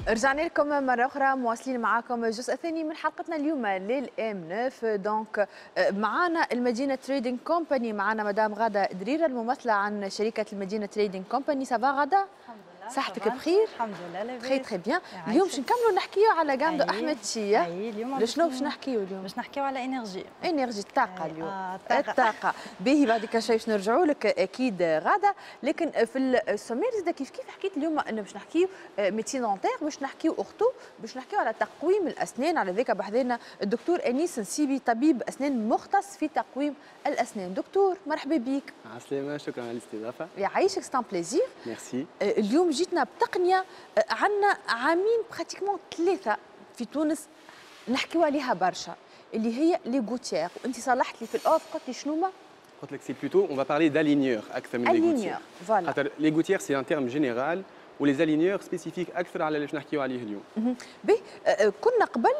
رجعنا لكم مرة أخرى، مواصلين معاكم الجزء الثاني من حلقتنا اليوم لل M 9. donc معانا المدينة Trading Company، معانا مدام غادة دريرة الممثلة عن شركة المدينة Trading Company. ça va غادة؟ الحمد لله. صحتك بخير؟ الحمد لله، لاباس. très très bien. اليوم باش نكملوا نحكيو على gamme de احمد شيا. اي، اليوم شنو باش نحكيو اليوم؟ باش نحكيو على énergie. énergie، الطاقة اليوم. آه، الطاقة. الطاقة، باهي، بعد شوي باش نرجعوا لك اكيد غادة، لكن في ال sommaire زاد كيف كيف حكيت اليوم انه باش نحكيو médecine dentaire، باش نحكيو ortho، باش نحكيو على تقويم الاسنان. على ذاك بحذانا الدكتور انيس نسيبي، طبيب اسنان مختص في تقويم الاسنان. دكتور، مرحبا بك. عسلامة، شكرا على الاستضافة. يعيشك، c'est un plaisir. ميرسي. اليوم جيتنا بتقنية عندنا عامين pratiquement ثلاثة في تونس نحكيو عليها برشا، اللي هي les gouttières، وانت صلحت لي في ال off، قلت لي شنو ما قلت لك c'est plutôt on va parler d'aligneurs اكثر من les gouttières. voilà. خاطر les gouttières c'est un terme général و les aligneurs spécifiques اكثر على اللي باش نحكيو عليه اليوم. باهي، كنا قبل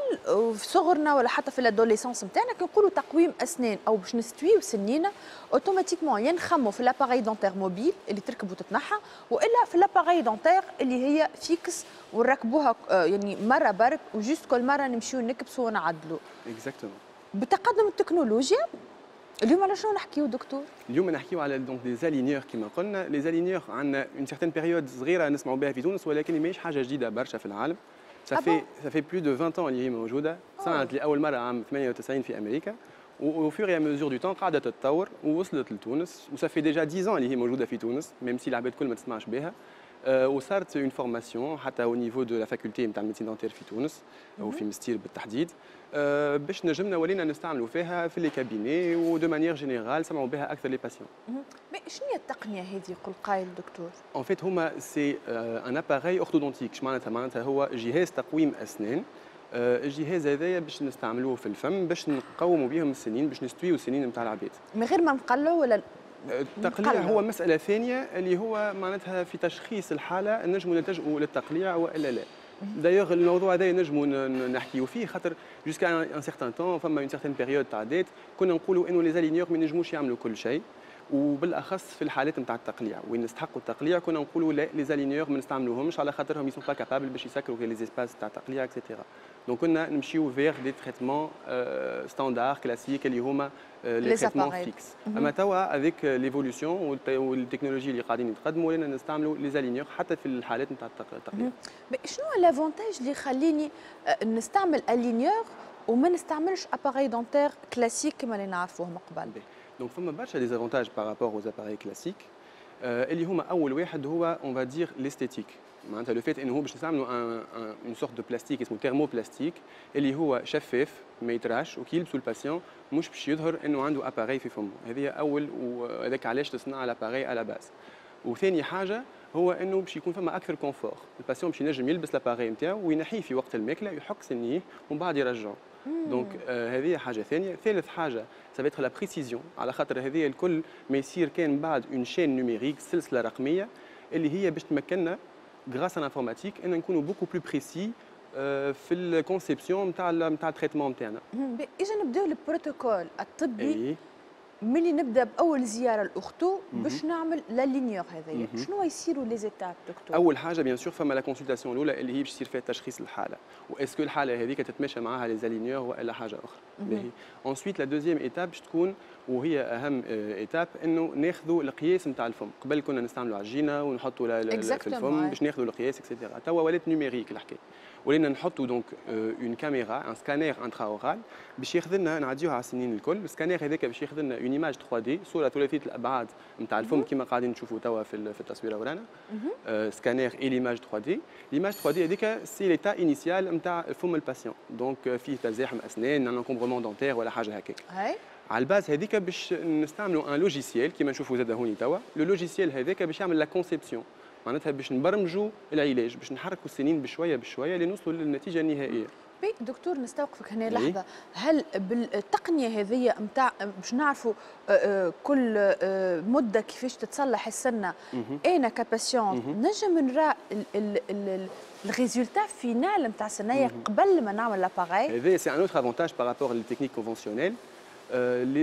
في صغرنا ولا حتى في l'adolescence نتاعنا كي نقولوا تقويم اسنان او باش نستويو سنينا، automatiquement يا نخمو في l'appareil dentaire mobile اللي تركب وتتنحى، والا في l'appareil dentaire اللي هي fixe ونركبوها يعني مرة برك و juste كل مرة نمشيو نكبسوا ونعدلوا. exactement. بتقدم التكنولوجيا، اليوم على شنو نحكيو دكتور؟ اليوم نحكيو على donc des aligneurs. كيما قلنا، les aligneurs عندنا une certaine période صغيرة نسمعوا بها في تونس، ولكن ماهيش حاجة جديدة برشا في العالم. ça fait plus de 20 ans اللي هي موجوده، صنعت لاول مرة عام 98 في امريكا، و au fur et à mesure du temps قاعدة تتطور ووصلت لتونس، و ça fait déjà 10 ans اللي هي موجودة في تونس، même si العباد الكل ما تسمعش بها. وصارت une formation حتى au niveau de la faculté نتاع ال médecine dentaire في تونس او في مستير بالتحديد، باش نجمنا ولينا نستعملوا فيها في les cabinets، و de manière générale سمعوا بها اكثر les patients. mais شنو هي التقنية هذه يقول قايل دكتور؟ en fait هما c'est un appareil orthodontique. معناتها؟ معناتها هو جهاز تقويم اسنان. الجهاز هذايا باش نستعملوه في الفم باش نقوموا بهم السنين، باش نستويو السنين نتاع العباد. من غير ما نقلعوا ولا؟ التقليع هو مسألة ثانية، اللي هو معناتها في تشخيص الحالة نجموا نلتجئوا للتقليع والا لا. d'ailleurs الموضوع هذا نجموا نحكيو فيه، خاطر jusqu'à un certain temps، فما une certaine période تعدات، كنا نقولوا انه les aligneurs ما ينجموش يعملوا كل شيء، وبالاخص في الحالات نتاع التقليع وين نستحقوا التقليع، كنا نقولوا لا، les aligneurs ما نستعملوهمش على خاطرهم ils sont pas capables باش يسكروا les espaces تاع التقليع et cetera. donc كنا نمشيو vers des traitements standards classiques اللي هما les traitements fixes. اما توا avec l'évolution وال technologie اللي قاعدين يتقدموا، ولينا نستعملوا les aligneurs حتى في الحالات نتاع التقليع. شنو l'avantage اللي يخليني نستعمل aligneur وما نستعملش appareil dentaire classique كما اللي نعرفوه من قبل؟ donc فما برشا des avantages par rapport aux appareils classiques، اللي هما اول واحد هو on va dire l'esthétique، معناتها le fait انه هو باش نستعملوا une sorte de plastique اسمه thermoplastique، اللي هو شفاف ما يتراش، وكي يلبسوا ال patient مش باش يظهر انه عنده appareil في فمه. هذه اول، وهذاك علاش تصنع l'appareil à la base. وثاني حاجة هو انه باش يكون فما اكثر confort، ال patient باش ينجم يلبس l'appareil نتاعو وينحيه في وقت الماكله، يحك سنية ومن بعد يرجعه. donc هذه حاجة ثانيه. ثالث حاجة ça va être la précision، على خاطر هذه الكل ما يصير كان بعد une chaîne numérique، سلسلة رقمية اللي هي باش تمكننا grâce à l'informatique ان نكونوا beaucoup plus précis في ال conception نتاع ال traitement نتاعنا. اذا نبداو البروتوكول الطبي. أيه. ملي نبدا باول زيارة ل ortho باش نعمل l'aligneur هذايا، شنو يصيروا les étapes دكتور؟ اول حاجة bien sûr فما la consultation الاولى اللي هي باش يصير فيها تشخيص الحاله، و est-ce que الحالة هذيك تتماشى معاها les aligneurs والا حاجة اخرى. باهي، ensuite la deuxième étape باش تكون، وهي اهم étape، انه ناخذوا القياس نتاع الفم. قبل كنا نستعملوا عجينه ونحطوا في الفم باش ناخذوا القياس et cetera. توا ولات numérique الحكايه، ولينا نحطوا donc une caméra، un scanner intra-oral، باش ياخذ لنا، نعديوها على السنين الكل. السكانير هذاك باش ياخذ لنا une image 3D، صوره ثلاثية الابعاد نتاع الفم، كما قاعدين نشوفوا توا في التصويره ورانا، scanner et l'image 3D. l'image 3D هذيك c'est l'état initial نتاع فم ال patient، donc فيه تزاحم اسنان، un encombrement dentaire ولا حاجة هكاك. على ال base هذيك باش نستعملوا un logiciel كيما نشوفوا زاد هوني توا. le logiciel هذاك باش يعمل la conception، معناتها باش نبرمجوا العلاج، باش نحركوا السنين بشوية بشوية لنوصلوا للنتيجة النهائيه. بي دكتور، نستوقفك هنا لحظه. هل بالتقنيه هذه نتاع باش نعرفوا كل مده كيفاش تتصلح السنه، انا ك patient نجم نرى ال résultat final نتاع السنية قبل ما نعمل l'appareil؟ هذا c'est un autre avantage par rapport لل techniques conventionnelles،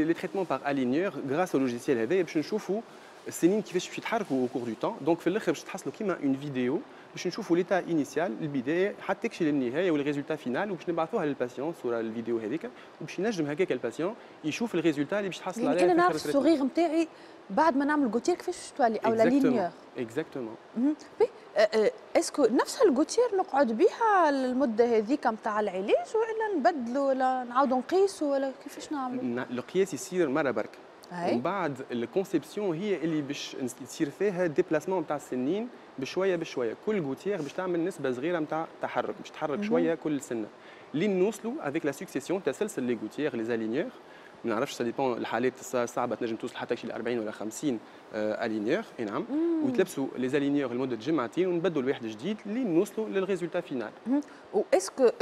les traitements par aligneur. grâce au logiciel هذا باش نشوفوا السنين كيفاش باش يتحركوا au cours du temps. donc في الاخر باش تحصلوا كيما une vidéo باش نشوفوا l'état initial، البدايه، حتى تكشي للنهاية وال résultat final، وباش نبعثوها لل patient صوره الفيديو هذيك، وباش ينجم هكاك ال patient يشوف ال résultat اللي باش تحصل يعني عليها. انا نعرف ال sourire نتاعي بعد ما نعمل gouttière كيفاش تولي او l'aligneur. exactement. est-ce que نفس ال gouttière نقعد بها المدة هذيك نتاع العلاج والا نبدلوا ولا نعاودوا نقيسوا ولا كيفاش نعملوا؟ القياس يصير مرة برك، ومن بعد ال conception هي اللي باش تصير فيها déplacement نتاع السنين بشوية بشويه. كل gouttière باش تعمل نسبه صغيرة نتاع تحرك، باش تحرك شوية كل سنة لين نوصلوا avec la succession، تسلسل les gouttières، les aligneurs. ما نعرفش، ça dépend، الحالات الصعبة تنجم توصل حتى شي 40 ولا 50 aligneurs. اي نعم، ويتلبسوا les aligneurs لمدة جمعتين ونبدلوا الواحد جديد لين نوصلوا لل résultat final. و est-ce que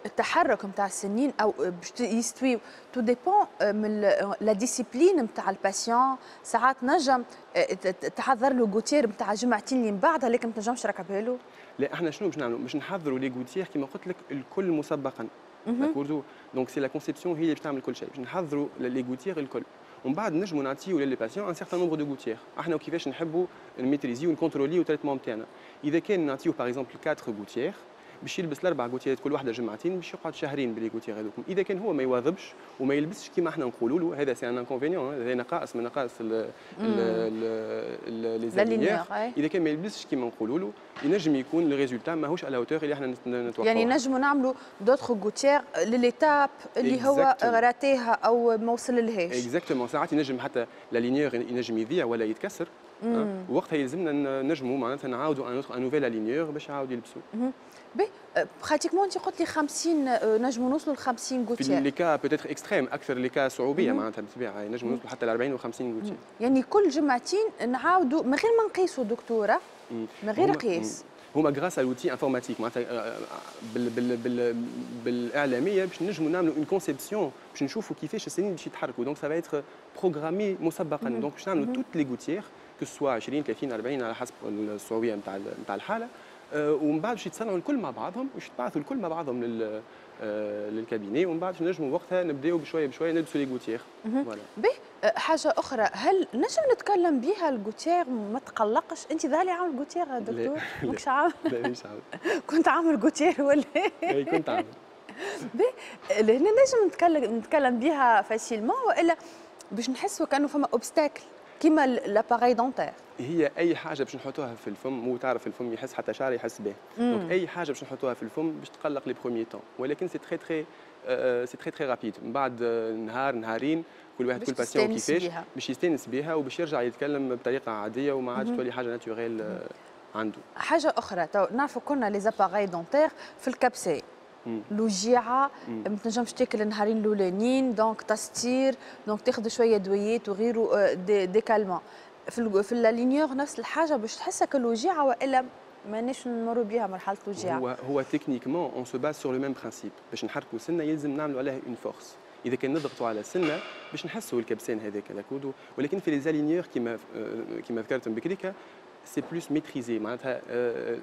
التحرك نتاع السنين او باش يستوي tout dépend من la discipline نتاع ال patient؟ ساعات نجم تحضر له gouttière نتاع جمعتين اللي من بعدها لكن ما تنجمش تركبها له. لا، احنا شنو باش نعملوا؟ باش نحضروا les gouttières كيما قلت لك الكل مسبقا، d'accord؟ donc c'est la conception هي اللي باش تعمل كل شيء. باش نحضروا les gouttières الكل ومن بعد نجموا نعطيو les patients un certain nombre de gouttières، احنا وكيفاش نحبوا نميتريزيو ونكونتروليو ال traitement نتاعنا. اذا كان نعطيو par exemple 4 gouttières، باش يلبس الاربع gouttières كل واحدة جمعتين، باش يقعد شهرين ب les gouttières هذوك. اذا كان هو ما يواظبش وما يلبسش كيما احنا نقولوا له، هذا c'est un inconvénient، هذا نقائص من نقائص les aligneurs. اذا كان ما يلبسش كيما نقولوا له، ينجم يكون le résultat ماهوش à la hauteur اللي احنا نتوقعوه. يعني نجموا نعملوا d'autres gouttières ل l'étape اللي هو راتيها او ما وصل لهاش. exactement. ساعات ينجم حتى l'aligneur ينجم يضيع ولا يتكسر، وقتها يلزمنا نجموا معناتها نعاودوا un nouvel aligneur باش يعاود يلبسوا. باهي، pratiquement انت قلت لي 50، نجموا نوصلوا ل 50 gouttières. في les cas peut-être extrêmes، اكثر les cas صعوبيه معناتها، بالطبيعة نجموا نوصلوا حتى ل 40 و 50 gouttières. يعني كل جمعتين نعاودوا من غير ما نقيسوا دكتوره، من غير قياس؟ هما grâce à l'outil informatique، معناتها بال بال بال بالاعلاميه باش نجموا نعملوا une conception باش نشوفوا كيفاش السنين باش يتحركوا. donc ça va être programmé مسبقا. donc باش نعملوا toutes les gouttières، que ce soit 20، 30، 40، على حسب الصعوبيه نتاع الحاله، ومن بعد باش يتصنعوا الكل مع بعضهم وباش يتبعثوا الكل مع بعضهم لل cabinet، ومن بعد نجموا وقتها نبداو بشوية بشوية نلبسوا les gouttières. voilà. به، حاجة اخرى، هل نجم نتكلم بها ال gouttière ما تقلقش؟ انت ظهر لي عامل gouttière دكتور، ماكش عامل؟ لا، مش عامل. كنت عامل gouttière ولا؟ اي، كنت عامل. به، لهنا نجم نتكلم بها facilement والا باش نحسوا كانه فما obstacle كيما l'appareil dentaire؟ هي اي حاجة باش نحطوها في الفم، مو تعرف الفم يحس، حتى شعر يحس به، donc اي حاجة باش نحطوها في الفم باش تقلق les premiers temps، ولكن c'est très très rapide. من بعد نهار نهارين، كل واحد، كل patient كيفاش، باش يستانس بها وباش يرجع يتكلم بطريقة عادية وما عادش تولي حاجة naturelle عنده. حاجة اخرى، تو نعرفوا كنا les appareils dentaires في الكبسه الوجيعه، ما تنجمش تاكل النهارين الاولانيين، donc تستير، donc تاخذ شوية دويات وغيره des calmants. في l'aligneur نفس الحاجه، باش تحسك الوجيعه والا مانيش نمروا بها مرحلة الوجيعه؟ هو techniquement on se base sur le même principe. باش نحركوا سنة يلزم نعملوا عليها une force. اذا كان نضغطوا على السنة باش نحسوا الكبسان هذاك، d'accord؟ ولكن في les aligneurs كيما ذكرت بكري c'est plus maîtrisé، معناتها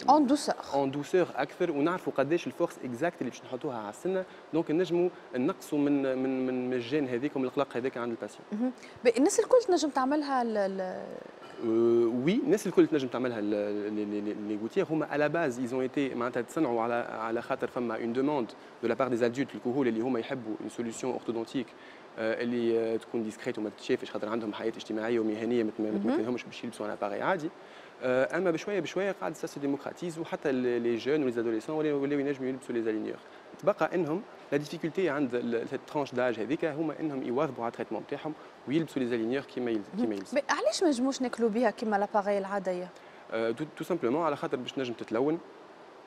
en douceur. en douceur اكثر، ونعرفوا قداش ال force exacte اللي باش نحطوها على السنه، donc نجموا نقصوا من ال gêne هذيك ومن القلق هذاك عند ال patient. الناس الكل تنجم تعملها؟ oui، الناس الكل تنجم تعملها. les gouttières هما à la base ils ont été معناتها تصنعوا على خاطر فما une demande de la part des adultes الكهول اللي هما يحبوا une solution orthodontique اللي تكون discrète وما تتشافش، خاطر عندهم حياة اجتماعية ومهنيه ما تمكنهمش باش يلبسوا un appareil عادي. اما بشوية بشوية قاعد ça se démocratise، وحتى les jeunes و les adolescents ولاو ينجموا يلبسوا les aligneurs. تبقى انهم la difficulté عند cette tranche d'âge هذيك هما انهم يواظبوا على ال traitement نتاعهم ويلبسوا les aligneurs كيما يلزم. علاش ما نجموش ناكلوا بها كيما l'appareil العاديه؟ tout simplement على خاطر باش نجم تتلون،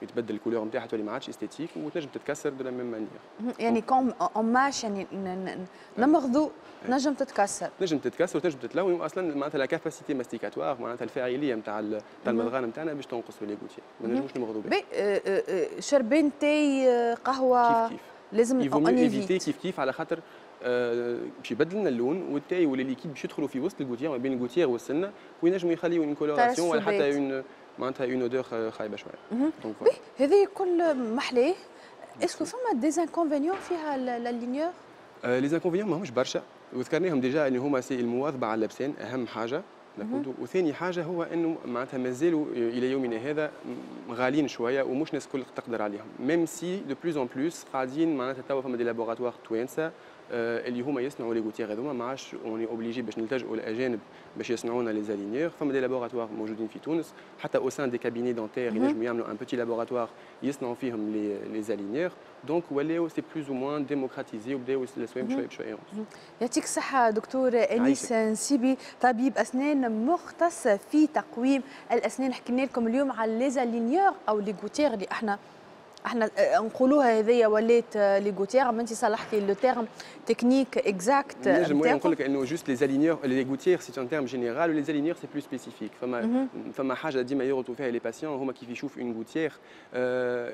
يتبدل ال couleur نتاعها، تولي ما عادش esthétique، وتنجم تتكسر de la même manière. يعني comme on mâche، يعني نمضغوا، نجم تتكسر. تنجم تتكسر وتنجم تتلون، واصلا معناتها la capacité masticatoire، معناتها الفاعلية نتاع المضغان نتاعنا باش تنقص les gouttières، ما نجموش نمضغوا بها. شربين تاي، قهوه؟ كيف كيف. لازم éviter. كيف كيف، على خاطر باش يبدل لنا اللون، والتاي ولا liquide باش يدخلوا في وسط ال gouttière، ما بين ال gouttière والسنه، وينجموا يخليوا une coloration ولا حتى une معناتها une odeur خايبة شويه. donc هذه كل محلاه. est-ce que فما des inconvénients فيها l'aligneur؟ les inconvénients ماهمش برشا، وذكرناهم déjà، اللي هما c'est المواظبة على اللبسان اهم حاجه. وثاني حاجة هو انه معناتها مازالوا الى يومنا هذا غاليين شوية ومش الناس الكل تقدر عليهم، même si de plus en plus قاعدين معناتها توا فما des laboratoires توانسة اللي هما يصنعوا les gouttières هذوما، ما عادش on est obligé باش نلتجئوا للاجانب باش يصنعوا لنا les aligneurs. فما des laboratoires موجودين في تونس، حتى au sein des cabinets dentaires ينجموا يعملوا un petit laboratoire يصنعوا فيهم les aligneurs. donc ولاو c'est plus ou moins démocratisé وبداو الاسوام بشوية بشوية. يعطيك الصحة دكتور انيس نسيبي، طبيب اسنان مختص في تقويم الاسنان. حكينا لكم اليوم على les aligneurs او les gouttières اللي احنا نقولوها هذيا ولات les gouttières، ما انت صلحتي le terme technique exact. نجم نقول لك انه juste les aligneurs، les gouttières c'est un terme général و les aligneurs c'est plus spécifique. فما حاجة ديما يغلطوا فيها les patients، هما كيف يشوف une gouttière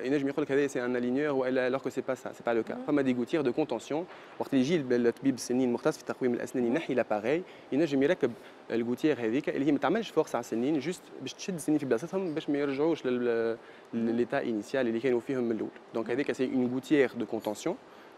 ينجم يقول لك هذا c'est un aligneur والا، alors que c'est pas ça، c'est pas le cas. فما des gouttières de contention، وقت اللي يجي الطبيب السنين المختص في تقويم الاسنان ينحي l'appareil ينجم يركب ال gouttière هذيك اللي هي ما تعملش force على السنين، juste باش تشد السنين في بلاصتهم باش ما يرجعوش l'état initial اللي كانوا فيهم من الاول. donc هذيك c'est une gouttière de contention،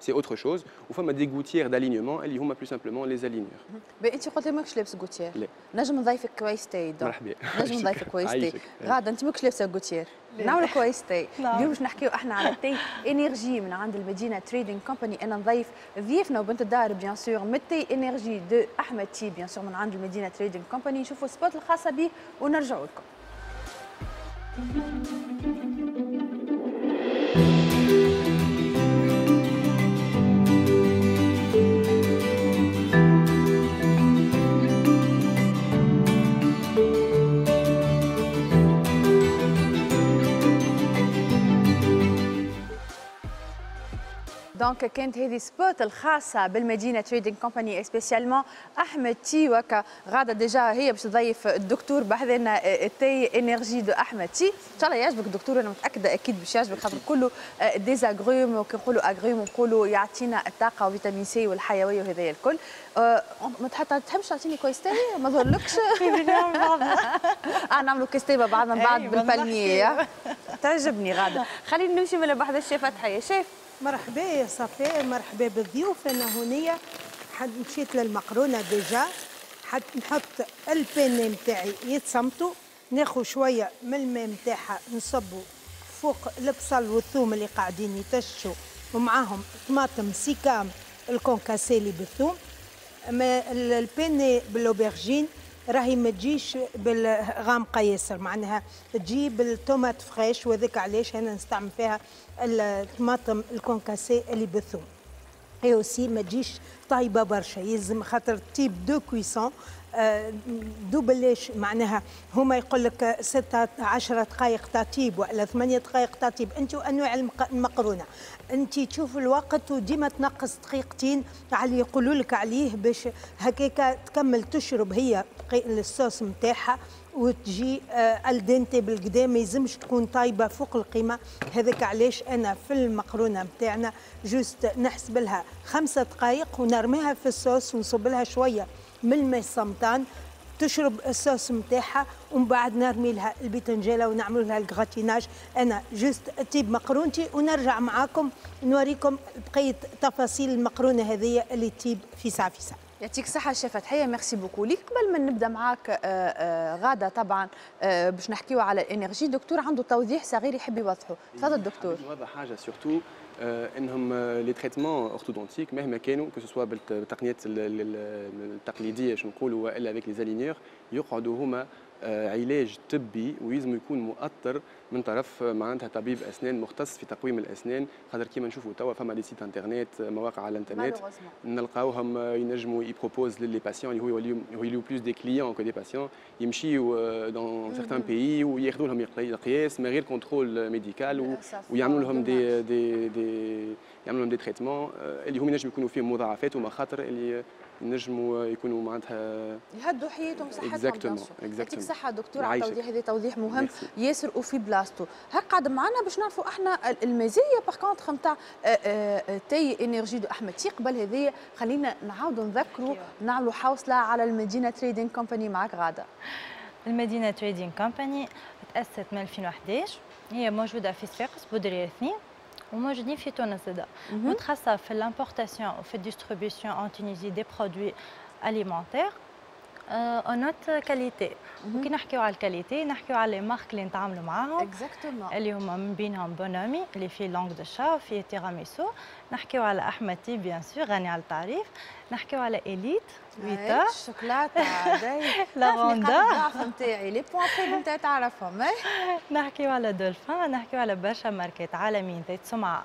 c'est autre chose. وفما des gouttières d'alignement اللي هما plus simplement les aligneurs. انت قلت لي ماكش لابس gouttière. لا. نجم نضيفك كويس تاي. مرحبا. نجم نضيفك كويس تاي. غاده انت ماكش لابسه gouttière. نعملوا كويس تاي. اليوم باش نحكيو احنا على thé énergie من عند المدينة Trading Company. انا نضيف ضيفنا وبنت الدار bien sûr من thé énergie de احمد تي، bien sûr من عند المدينة Trading Company. نشوفوا ال spot الخاصة به ونرجعوا لكم. donc كانت هذه spot الخاصة بالمدينة Trading Company spécialement احمد تي. وكا غاده déjà هي باش تضيف الدكتور بحذنا thé énergie de احمد تي. ان شاء الله يعجبك الدكتور، انا متاكدة اكيد باش يعجبك خاطر كله des agrumes، وكي نقولوا agrumes نقولوا يعطينا الطاقة و vitamine C والحيوية وهذايا الكل. ما تحبش تعطيني كويس تاي؟ ما ظلكش؟ نعملوا كويس تاي مع بعضنا من بعد بال palmier. تعجبني غاده. خلينا نمشي من بحذا الشيف فتحيه. شيف مرحبا يا صفاء، مرحبا بالضيوف. انا هنيه مشيت للمقرونه déjà، حتى نحط ال penne نتاعي يتصمتوا، ناخذ شوية من الماء نتاعها نصبوا فوق البصل والثوم اللي قاعدين يتشوا، ومعاهم طماطم سيكام ال concassé اللي بالثوم. ما ال penne بال aubergine راهي ما تجيش بالغامقه ياسر، معناها تجي بال tomate fraîche، وذاك علاش انا نستعمل فيها الطماطم ال concassé اللي بالثوم. et aussi ما تجيش طايبه برشا، يلزم خاطر type de cuisson دوبلاش، معناها هما يقول لك 16 دقائق تطيب ولا 8 دقائق تطيب، انت وانواع المقرونه انت تشوف الوقت وديما تنقص دقيقتين على اللي يقولوا لك عليه باش هكاكا تكمل تشرب هي الصوص نتاعها وتجي al dente بالقدا، ما يلزمش تكون طايبه فوق القيمة. هذاك علاش انا في المقرونه نتاعنا juste نحسب لها 5 دقائق ونرميها في الصوص ونصب لها شوية من الماء الصمتان تشرب الصوص نتاعها، ومن بعد نرمي لها البتنجاله ونعمل لها ال gratinage. انا juste طيب مقرونتي ونرجع معاكم نوريكم بقية تفاصيل المقرونه هذه اللي تطيب في ساعة في ساعة. يعطيك الصحة شيف فتحية، merci beaucoup ليك. قبل ما نبدا معاك غادة طبعا باش نحكيو على ال énergie، دكتور عنده توضيح صغير يحب يوضحه، تفضل دكتور. نوضح حاجة surtout انهم les traitements orthodontiques مهما كانوا، que ce soit بالتقنيات التقليدية شنو نقولوا والا avec les aligneurs، يقعدوا هما علاج طبي ويلزم يكون مؤطر من طرف معناتها طبيب اسنان مختص في تقويم الاسنان، خاطر كيما نشوفوا توا فما les sites internet، مواقع على الانترنت نلقاوهم ينجموا ي propose les patients اللي هو يوليو plus des clients que des patients، يمشيو dans certains pays وياخذوا لهم القياس من غير contrôle médical ويعملوا لهم des des des يعملوا لهم des traitements اللي هم ينجم يكونوا فيهم مضاعفات ومخاطر اللي نجموا يكونوا معناتها يهدوا حياتهم صحتهم. يعطيك الصحة دكتور على التوضيح هذا، توضيح مهم ياسر وفي بلاصتو. هاك قاعد معنا باش نعرفوا احنا المزايا par contre نتاع thé énergie de احمد تي. قبل هذه خلينا نعاودوا نذكروا نعملوا حوصلة على المدينة Trading Company. معك غادة. المدينة Trading Company تأسست من 2011، هي موجودة في صفاقس بودرية 2 وموجودين في تونس زادا، متخصصة في l'importation وفي ال distribution en Tunisie des produits alimentaires. en haute qualité. وكي نحكيو على ال qualité نحكيو على les marques اللي نتعاملوا معاهم. exactement. اللي هما من بينهم بونامي اللي فيه langue de chat وفيه تيراميسو، نحكيو على احمد تي bien sûr غني على التعريف، نحكيو على اليت ويتا الشوكولاتة لافوندا الضعف نتاعي les points faibles نتاعي تعرفهم. نحكيو على دولفين، نحكيو على برشا ماركات عالميين ذات سمعه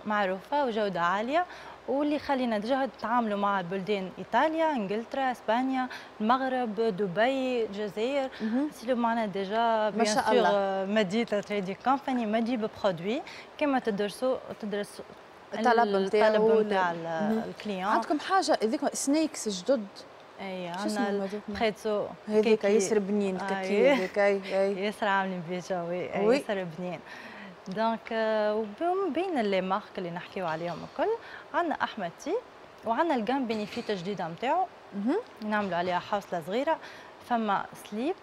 معروفة وجوده عالية، واللي خلينا déjà نتعاملوا مع بلدان ايطاليا، انجلترا، اسبانيا، المغرب، دبي، الجزائر. سيلو معنا déjà ما شاء الله. مدينة Trading Company ما تجيب produit كما تدرسوا تدرس الطلب نتاعو الطلب نتاع ال client. عندكم حاجة هذيك snacks جدد؟ اي عندنا البريتزو هذيك ياسر بنين، الكاكي هذيك. اي ياسر عاملين بيه جو ياسر بنين. donc ومن بين les marques اللي نحكيو عليهم الكل عندنا احمد تي وعندنا ال gamme Benefit الجديدة نتاعو نعملوا عليها حوصله صغيرة. فما Sleep،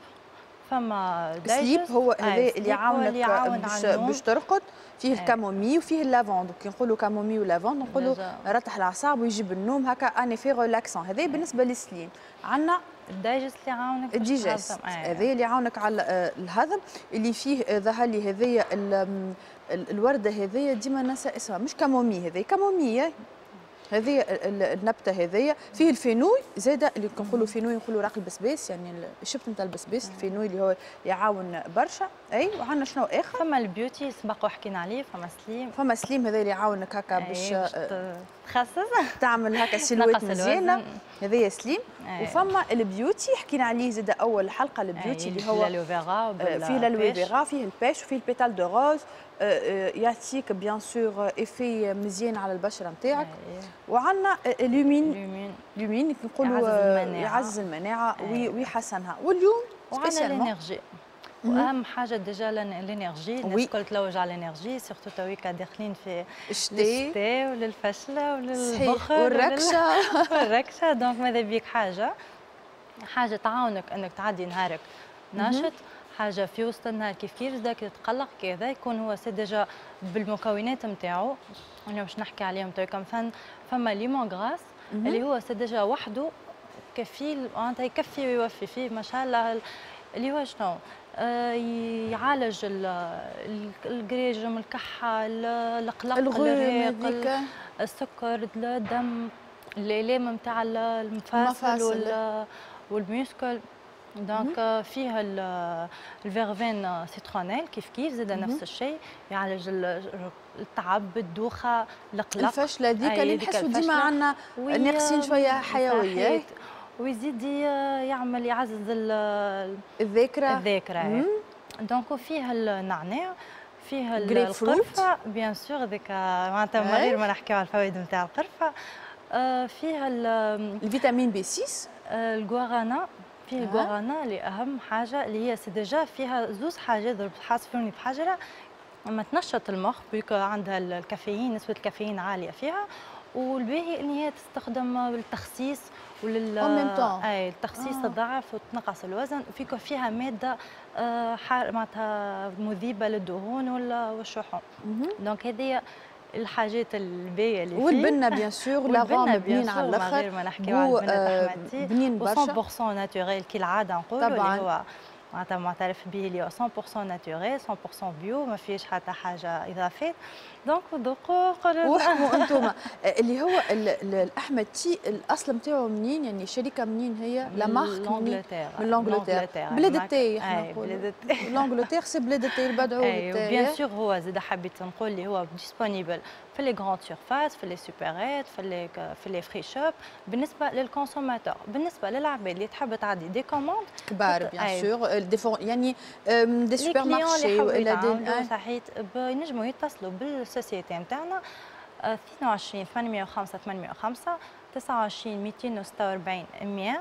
فما Sleep هو هذا اللي يعاونك باش ترقد، فيه ال camomille وفيه ال lavande. كي نقولوا camomille و lavande نقولوا رتح الاعصاب ويجيب النوم، هكا un effet relaxant. هذا بالنسبة لل Sleep. عندنا ال Digest اللي يعاونك ال Digest هذا اللي يعاونك على الهضم، اللي فيه ظهر لي هذيا الورده هذيا ديما ننسى اسمها، مش camomille، هذه camomille، هذه النبتة هذيا. فيه ال fenouil زاده، اللي كنقولوا fenouil نقولوا راق البسباس، يعني الشبت نتاع البسباس، ال fenouil اللي هو يعاون برشا. اي وعندنا شنو اخر؟ فما ال Beauty سبق وحكينا عليه، فما Slim، فما Slim هذا اللي يعاونك هكا باش تخسس تعمل هكا silhouette مزيانه، هذايا Slim. وفما ال Beauty حكينا عليه زاد اول حلقة، ال Beauty اللي هو l'aloe vera، فيه l'aloe vera، فيه ال pêche وفيه ال pétales de rose، يعطيك bien sûr effet مزيان على البشرة نتاعك. وعندنا Lumine، Lumine نقولوا يعزز المناعة ويحسنها. واليوم وعندنا l'énergie، واهم حاجة déjà l'énergie، الناس الكل تلوج على l'énergie، surtout تويكا داخلين في الشتاء وللفشله وللبخل والركشه والركشه. donc ماذا بيك حاجة تعاونك انك تعدي نهارك ناشط، حاجة في وسط النهار كيف كيف زاك تتقلق كذا، يكون هو c'est déjà بالمكونات نتاعو انا باش نحكي عليهم تويكا. مثلا فما lemon grass اللي هو c'est déjà وحده كفيل معناتها يكفي ويوفي فيه ما شاء الله، اللي هو شنو يعالج الجريجم، الكحه، القلق، الريق، السكر، الدم، الالام نتاع المفاصل وال muscles. donc فيها ال verveine citronnelle كيف كيف زاد نفس الشيء، يعالج التعب، الدوخه، القلق، الفشله هذيك اللي نحسوا ديما عندنا ناقصين شوية حيوية، ويزيد يعمل يعزز الذاكرة. donc فيها النعناع، فيها القرفه bien sûr، هذيك معناتها من غير ما نحكيو على الفوائد نتاع القرفه. فيها ال vitamine B 6، الغوارانا، فيه الغوارانا اللي اهم حاجة اللي هي c'est déjà فيها زوز حاجات حاسفوني بحجره، اما تنشط المخ puisque عندها الكافيين، نسبه الكافيين عالية فيها، والباهي ان هي تستخدم للتخسيس ولل اي التخسيس الضعف وتنقص الوزن، وفيك فيها مادة معناتها مذيبه للدهون والشحوم. donc هذه الحاجات الباهيه اللي فيه، والبنه bien sûr، l'arôme بنين على الاخر، غير ما نحكيو على البنه احمد، بنين برشا 100% naturel كالعادة نقولوا، اللي هو معناتها معترف به اللي هو 100% naturel، 100% bio، ما فيش حتى حاجة اضافات. donc ذوقوا قولوا وحكموا انتم. اللي هو الاحمد تي الاصل نتاعو منين؟ يعني الشركة منين هي؟ la marque من من l'Angleterre، بلاد التاي احنا نقولوا l'Angleterre c'est بلاد التاي البدعو. bien sûr هو زاد حبيت نقول اللي هو disponible في les grandes surfaces، في les supérettes، في les free shop بالنسبة لل consommateur. بالنسبة للعباد اللي تحب تعدي des commandes كبار bien sûr، des يعني des supermarchés والا des صحيت، ينجموا يتصلوا بال société نتاعنا 22 805 805 29 246 100،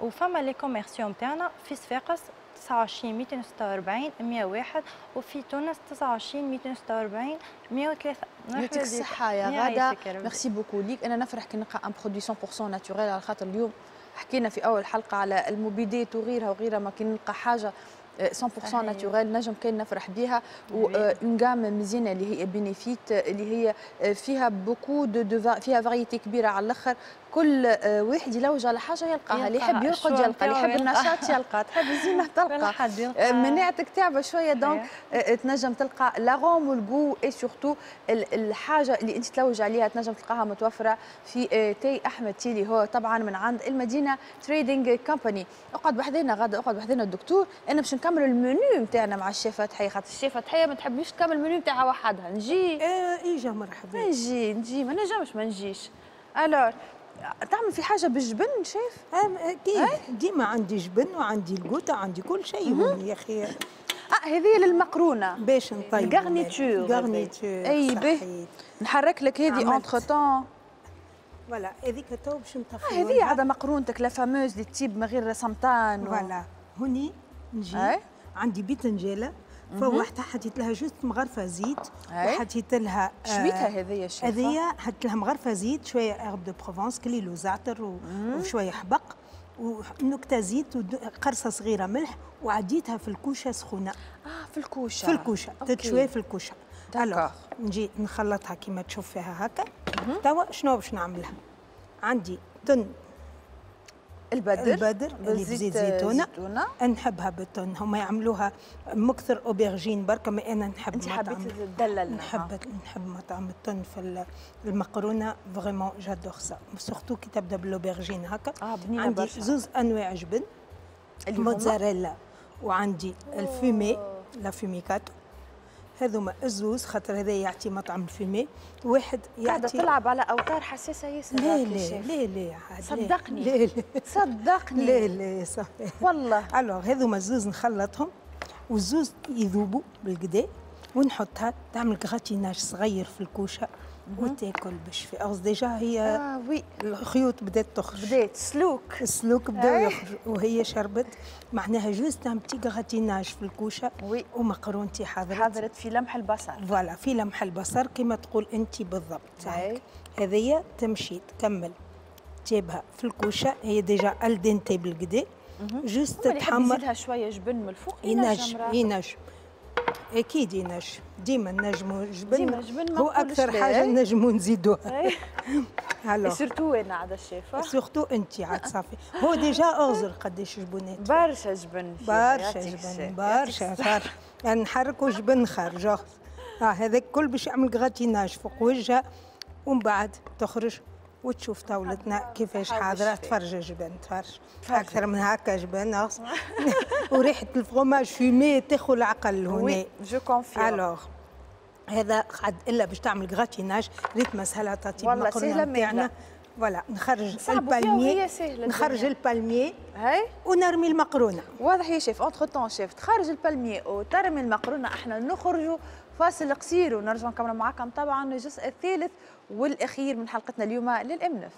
وفما les commerciaux نتاعنا في صفاقس 29 246 101، وفي تونس 29 246 103. يعطيك الصحة يا غادة، merci beaucoup ليك. أنا نفرح كي نلقى un produit 100% naturel، على خاطر اليوم حكينا في أول حلقة على المبيدات وغيرها وغيرها، ما كي نلقى حاجة 100% naturel نجم كان نفرح بها. و une gamme مزيانه اللي هي Benefit، اللي هي فيها beaucoup de فيها variété كبيرة على الاخر. كل واحد يلوج على حاجة يلقاها، اللي يحب يرقد يلقى، اللي يحب النشاط يلقى، تحب الزينة تلقى، مناعتك تعبه شوية donc تنجم تلقى l'arôme وال goût et surtout الحاجة اللي انت تلوج عليها تنجم تلقاها متوفرة في تاي احمد تيلي، هو طبعا من عند المدينة Trading Company. اقعد بحذانا غدا، اقعد بحذانا الدكتور، انا باش نكمل المنيو نتاعنا مع الشيفه تحية، خاطر الشيفه تحية ما تحبيش تكمل المنيو نتاعها وحدها. نجي اجا مرحبا، نجي ما نجمش ما نجيش. alors تعمل في حاجة بالجبن شيف؟ اكيد ديما عندي جبن وعندي القوطه عندي كل شيء يا اخي. هذه للمقرونه باش نطيب garniture. garniture اي به نحرك لك هذه entre-temps. voilà هذيك تو باش نطفيوها. هذه عاد مقرونتك la fameuse اللي تطيب من غير سمطان voilà هوني نجي عندي بيتنجاله فوحتها، حطيت لها juste مغرفه زيت وحطيت لها شويتها هذيا الشيفه هذيا، حطيت لها مغرفه زيت شوية herbes de Provence كليل وزعتر وشوية حبق ونكته زيت وقرصه صغيرة ملح، وعديتها في الكوشة سخونة. في الكوشة، في الكوشة تتشوي في الكوشة. alors نجي نخلطها كيما تشوف فيها هكا. توا شنو باش نعملها؟ عندي تن البدر اللي بزيت زيتونه، نحبها بالتن، هما يعملوها مكثر aubergine بركة، ما انا نحب. انت حبيتي تدلل؟ نحب مطعم التن في المقرونه، vraiment j'adore ça، surtout كي تبدا بال aubergine هكا. بنينه عندي برشا. زوز انواع جبن، الموتزاريلا وعندي ال fumé l'affumicato، هذوما الزوز خاطر هذا يعطي مطعم ال fumé، واحد يعطي. قاعدة تلعب على اوتار حساسة ياسر. لا لا لا لا صدقني، لا لا صدقني، لا لا صافي والله. alors هذوما الزوز نخلطهم والزوز يذوبوا بالكدا، ونحطها تعمل gratinage صغير في الكوشة وتاكل باش في أغز. déjà هي oui الخيوط بدات تخرج، بدات سلوك، السلوك بدا يخرج وهي شربت، معناها juste un petit gratinage في الكوشة oui. ومقرونتي حضرت في لمح البصر. voilà في لمح البصر كما تقول انت بالضبط. هذيا تمشي تكمل تجيبها في الكوشة، هي déjà al dente بالكدا، juste تحمر، يزيدها شوية جبن من الفوق. ينجم اكيد ينجم، ديما نجمو جبن، ديما جبن هو اكثر حاجة نجمو نزيدوها. alors surtout انا عاد الشيفه، surtout انت عاد صافي. هو déjà اغزر قداش جبنات، برشا جبن، برشا جبن، برشا صار نحركوا جبن خارج. هذاك كل باش يعمل gratinage فوق وجهها، ومن بعد تخرج وتشوف طاولتنا كيفاش حاضره. تفرج جبن، تفرج اكثر من هكا جبن وريحه ال fromage fumé تاخذ العقل هنا. je confirme. alors هذا قعد الا باش تعمل gratinage، ريت ما سهلة تعطي والله سهلة ماهله. voilà نخرج ال palmier، نخرج ال palmier هاي ونرمي المقرونه. واضح يا chef. entre-temps chef تخرج ال palmier وترمي المقرونه، احنا نخرجوا فاصل قصير ونرجع نكمل معاكم طبعا الجزء الثالث والاخير من حلقتنا اليوم للامنف.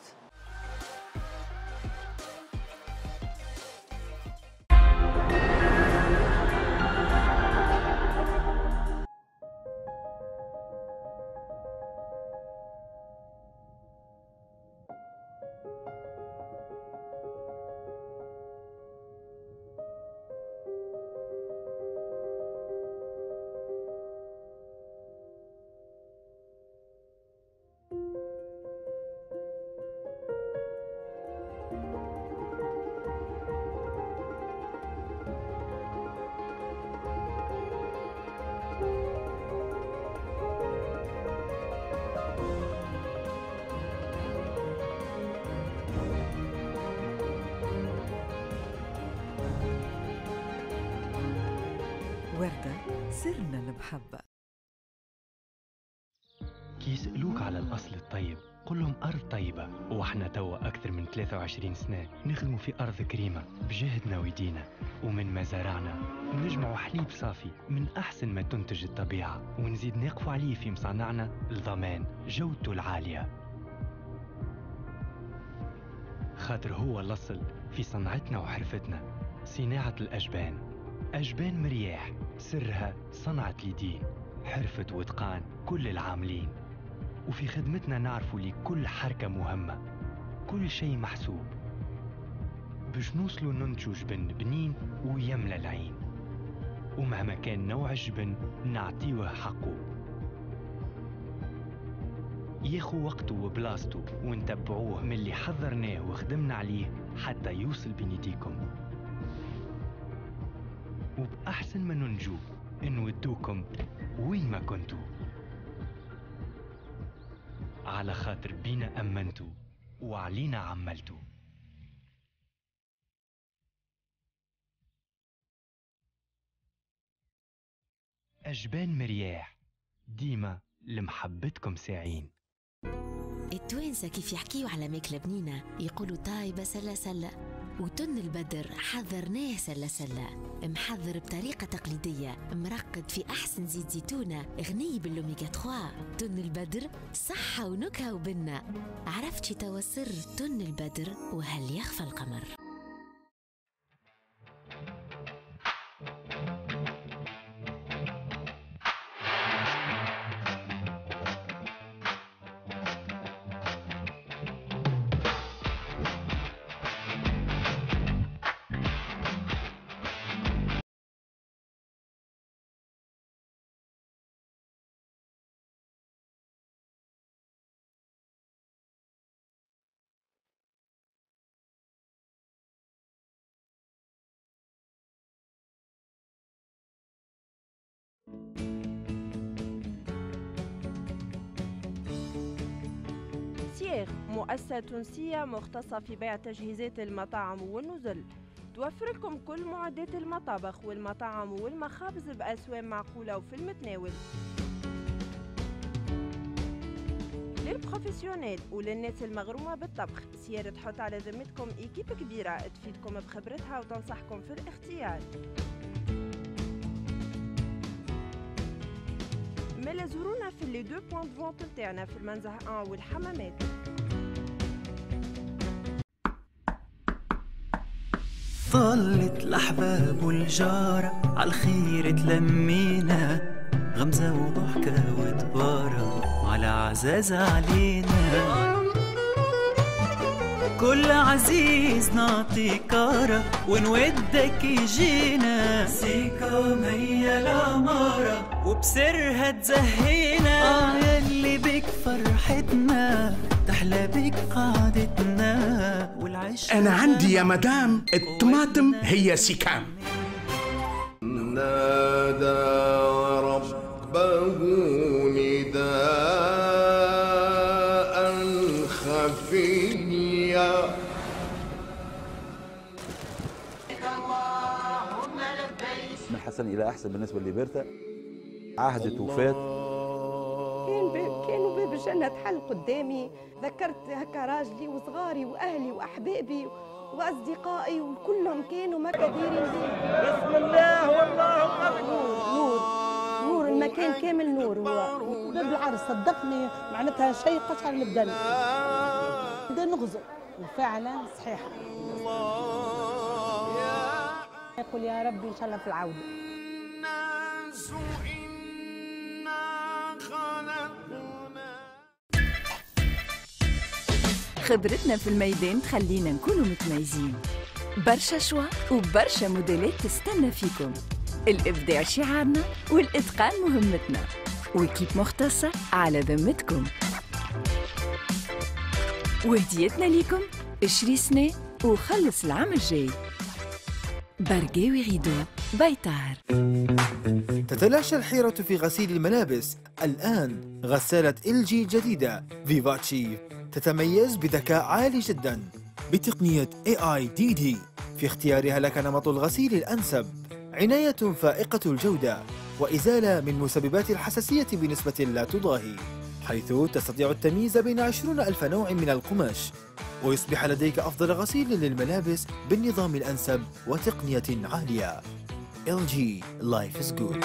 وردة سرنا المحبة. كي يسألوك على الأصل الطيب قل لهم أرض طيبة، وإحنا توا أكثر من 23 سنة نخدموا في أرض كريمة بجهدنا ويدينا، ومن مزارعنا نجمعوا حليب صافي من أحسن ما تنتج الطبيعة، ونزيد نقفوا عليه في مصانعنا لضمان جودته العالية، خاطر هو الأصل في صنعتنا وحرفتنا. صناعة الأجبان، أجبان مرياح سرها صنعة اليدين، حرفة وإتقان كل العاملين، وفي خدمتنا نعرفوا لكل حركة مهمة، كل شيء محسوب باش نوصلوا ننتجوا جبن بنين ويملى العين، ومهما كان نوع الجبن نعطيوه حقه. ياخو وقته وبلاصته ونتبعوه من اللي حضرناه وخدمنا عليه حتى يوصل بين يديكم. وبأحسن ما ننجو نودوكم وين ما كنتوا، على خاطر بينا أمنتوا وعلينا عملتوا. أجبان مرياح، ديما لمحبتكم ساعين. التوانسة كيف يحكيوا على ماكلة بنينة يقولوا طايبة سلة سلة، وتن البدر حضرناه سلة سلة، محضر بطريقة تقليدية، مرقد في أحسن زيت زيتونة، غني بالأوميغا 3. تن البدر صحة ونكهة وبنة. عرفتي توا سر تن البدر وهل يخفى القمر؟ سيغ مؤسسة تونسية مختصة في بيع تجهيزات المطاعم والنزل، توفر لكم كل معدات المطابخ والمطاعم والمخابز بأسواق معقولة وفي المتناول. لل professionnels وللناس المغرومة بالطبخ، سيارة تحط على ذمتكم équipe كبيرة تفيدكم بخبرتها وتنصحكم في الاختيار. ملا زورونا في les deux points de vente نتاعنا في المنزه 1 والحمامات. طلت الأحباب والجارة عالخير تلمينا، غمزة وضحكة وتبارة وعلى عزاز علينا. كل عزيز نعطي كارة ونودك يجينا، سيكام هي العمارة وبسرها تزهينا. يلي بك فرحتنا تحلى بك قعدتنا والعيش. أنا عندي يا مدام الطماطم هي سيكام. نادى ربه نداء خفيا. من حسن إلى أحسن بالنسبة لبرتا. عهدت وفات. كانوا باب الجنة تحل قدامي، ذكرت هكا راجلي وصغاري وأهلي وأحبابي وأصدقائي وكلهم كانوا ما كديرين بي. بسم الله والله أكبر. نور نور المكان كامل نور. هو باب العرس صدقني معناتها شيء قشعر البدن. بدا نغزر وفعلا صحيحة. يقول يا ربي إن شاء الله في العودة. خبرتنا في الميدان تخلينا نكونوا متميزين. برشا choix وبرشا موديلات تستنى فيكم. الإبداع شعارنا والإتقان مهمتنا، و équipe مختصة على ذمتكم. وهديتنا ليكم اشري سنة وخلص العام الجاي. برقاوي rideaux بيطار. تتلاشى الحيرة في غسيل الملابس. الآن غسالة LG الجديدة فيفاتشي تتميز بذكاء عالي جدا بتقنية AIDD في اختيارها لك نمط الغسيل الأنسب، عناية فائقة الجودة وإزالة من مسببات الحساسية بنسبة لا تضاهي، حيث تستطيع التمييز بين 20,000 نوع من القماش، ويصبح لديك أفضل غسيل للملابس بالنظام الأنسب وتقنية عالية. LG Life is good.